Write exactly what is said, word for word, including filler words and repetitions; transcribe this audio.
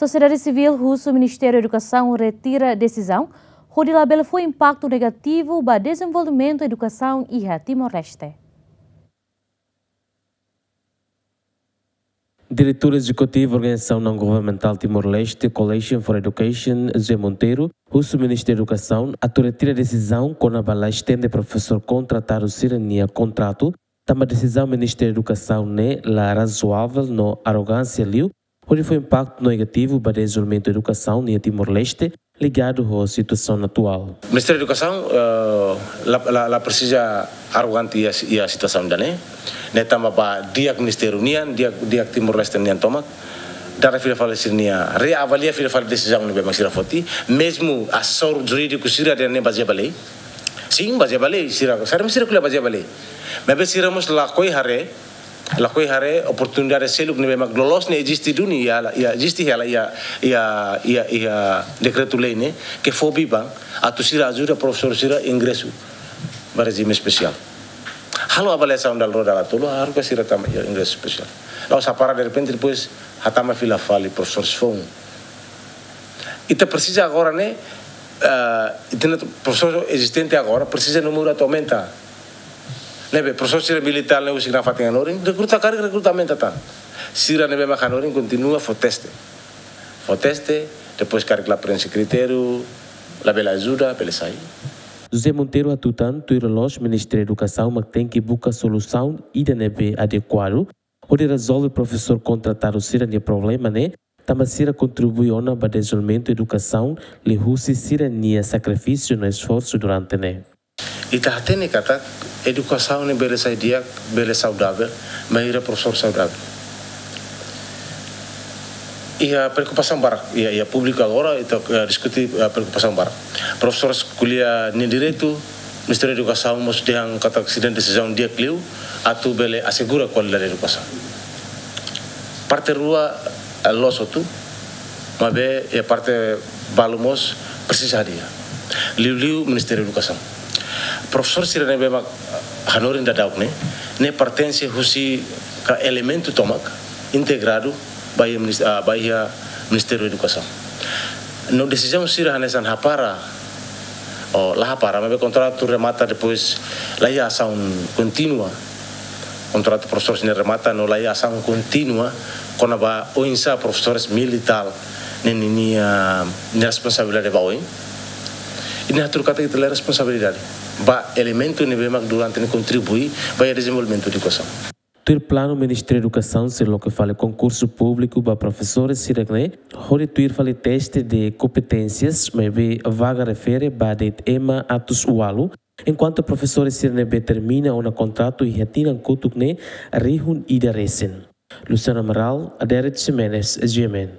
Sosiedade sivíl husu Ministériu Edukasaun retira desizaun hodi labele fó impaktu negativu ba dezenvolvimentu edukasaun iha Timor-Leste. Diretór Ezekutivu Organizasaun Naun Governamentál Timor-Leste, Coalition for Education, José Monteiro, husu Ministériu Edukasaun atu retira desizaun kona-ba la estende profesór kontratadu sira-nia kontratu, tanba desizaun Ministériu Edukasaun ne'e la razoável no arrogánsia liu, hodi fó impaktu negativu ba dezenvolvimentu edukasaun iha Timor-Leste, ligadu ho situasaun atuál. Ministériu Edukasaun, eh, la, la, la presiza arrogante iha, iha situasaun ida-ne'e. Ne'e tanba ba di'ak ministériu nian, di'ak, di'ak Timor-Leste nian tomak, dada fila fali sira-nia, reavalia fila fali desizaun ne'ebé mak sira foti, mezmu asesór jurídiku sira dehan ne'e bazeia ba lei. Sin, bazeia ba lei, sira, sira, sira ko'alia bazeia ba lei. Maibé sira mós lakohi haree, lakohi haree oportunidade seluk ne'ebé mak loloos ne'e eziste duni iha, iha, eziste iha, iha, iha, iha, iha dekretu-lei ne'e, ke fó biban atu sira ajuda profesór sira ingresu ba rejime espesiál. Halo avaliasaun dala rua dala tolu, halo ka sira tama iha ingresu espesiál. La'ós hapara derrepente, depois hatama fila fali profesór foun. Ita presiza agora ne'e, eh, ita-nia profesór ezistente agora presiza númeru atu aumenta. Ne'ebé profesór sira militár ne'e husi nafatin hanorin, rekruta karik rekruta aumenta tan. Sira ne'ebé mak hanorin kontinua fó teste. Fó teste, depois karik la prenxe kritériu, labele ajuda, bele sai. José Monteiro hatutan, tuir loloos Ministériu Edukasaun mak tenke buka solusaun ida ne'ebé adekuadu hodi rezolve profesór kontratadu sira-nia problema ne'e, tanba sira kontribui ona ba dezenvolvimentu edukasaun liuhusi sira-nia sakrifísiu no esforsu durante ne'e. Ita hatene katak edukasaun ne'e bele sai di'ak, bele saudavel, bainhira profesór saudavel. Iha preokupasaun barak, iha, iha públiku agora, ita, eh, diskute, eh, preokupasaun barak. Profesór ko'alia nia direitu, Ministériu Edukasaun mós dehan katak sira-nia desizaun di'ak liu, atu bele asegura kualidade edukasaun. Parte rua, eh, loos hotu, maibé iha parte balu mós presiza hadi'a. Liuliu Ministériu Edukasaun. Profesór sira ne'ebé mak hanorin daudauk ne'e, ne'e pertense husi ka elementu tomak integradu ba iha minis-, ah, ba iha Ministériu Edukasaun. No desizaun sira hanesan hapara, ou la hapara, maibé kontratu remata depois la iha asaun kontínua. Kontratu profesór sira remata no la iha asaun kontínua kona-ba oinsá profesores militár ne'e ninia, nia responsabilidade ba oin. I ne'e hatudu katak ita la iha responsabilidade ba elementu ne'ebé mak durante ne'e kontribui ba iha dezenvolvimentu edukasaun. Tuir planu Ministériu Edukasaun sei loke fali konkursu públiku ba profesores sira ne'e, hodi tuir fali teste de kompeténsias, maibé vaga refere ba de'it ema atus ualu, enkuantu profesores sira ne'ebé termina ona kontratu iha tinan kotuk ne'e rihun ida resin. Luciano Amaral, Adérito Ximenes, G M N.